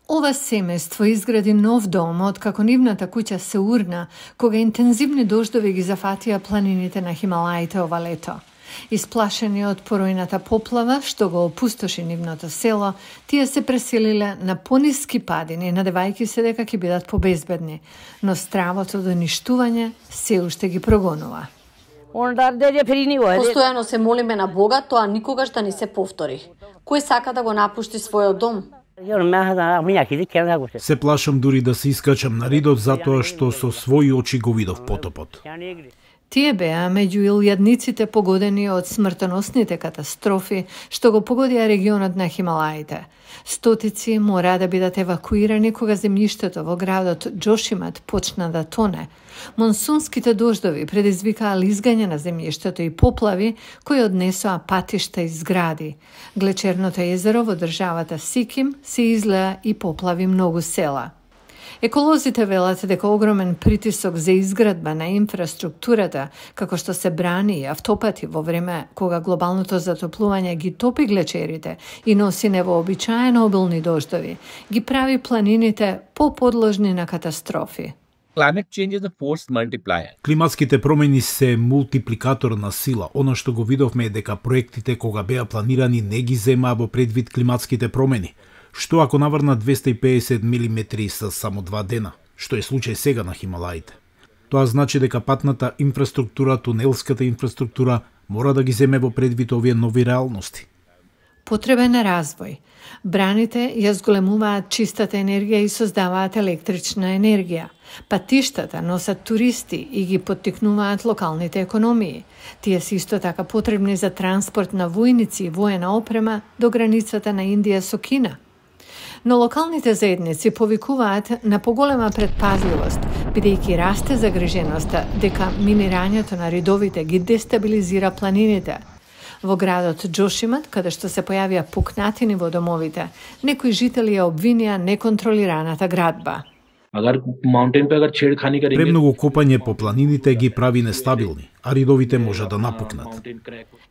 Ова семејство изгради нов дом откако нивната куќа се урна кога интензивни дождови ги зафатија планините на Хималаите ова лето. Исплашени од поројната поплава што го опустоши нивното село, тие се преселиле на пониски падини, надевајќи се дека ќе бидат побезбедни, но стравото до ништување се уште ги прогонува. Постојано се молиме на Бога тоа никогаш да не се повтори. Кој сака да го напушти својот дом? Се плашам дури да се искачам на ридот затоа што со своји очи го видов потопот. Тие беа меѓу илјадниците погодени од смртоносните катастрофи што го погодија регионот на Хималаите. Стотици мора да бидат евакуирани кога земјиштето во градот Джошимат почна да тоне. Монсунските дождови предизвикаа лизгање на земјиштето и поплави кои однесоа патишта и згради. Глечерното езеро во државата Сиким се излеа и поплави многу села. Еколозите велат дека огромен притисок за изградба на инфраструктурата, како што се брани и автопати во време кога глобалното затоплување ги топи глечерите и носи невообичаено обилни дождови, ги прави планините поподложни на катастрофи. Климатските промени се мултипликатор на сила. Оно што го видовме е дека проектите кога беа планирани не ги земаа во предвид климатските промени. Што ако наврна 250 мм со само 2 дена, што е случај сега на Хималаите? Тоа значи дека патната инфраструктура, тунелската инфраструктура мора да ги земе во предвид овие нови реалности. Потребен е развој. Браните ја зголемуваат чистата енергија и создаваат електрична енергија. Патиштата носат туристи и ги поттикнуваат локалните економии. Тие се исто така потребни за транспорт на војници и воена опрема до границата на Индија со Кина. Но локалните заедници повикуваат на поголема предпазливост, бидејќи расте загриженоста дека минирањето на ридовите ги дестабилизира планините. Во градот Джошимат, каде што се појавија пукнатини во домовите, некои жители ја обвинија неконтролираната градба. Премногу копање по планините ги прави нестабилни, а ридовите може да напукнат.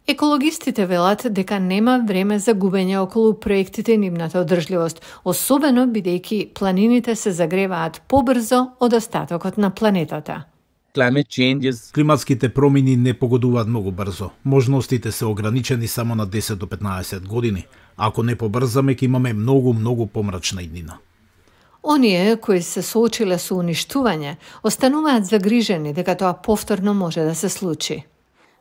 Екологистите велат дека нема време за губење околу проектите и нивната одржливост, особено бидејќи планините се загреваат побрзо од остатокот на планетата. Климатските промени не погодуваат многу брзо. Можностите се ограничени само на 10 до 15 години. Ако не побрзаме, ќе имаме многу помрачна иднина. Оние кои се соочиле со уништување, остануваат загрижени дека тоа повторно може да се случи.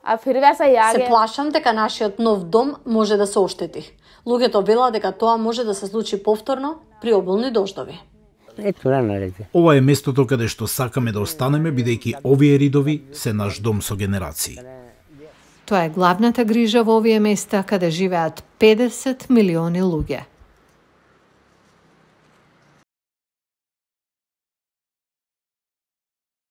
Се плашам дека нашиот нов дом може да се оштети. Луѓето велат дека тоа може да се случи повторно при обилни дождови. Ова е местото каде што сакаме да останеме, бидејќи овие ридови се наш дом со генерации. Тоа е главната грижа во овие места каде живеат 50 милиони луѓе.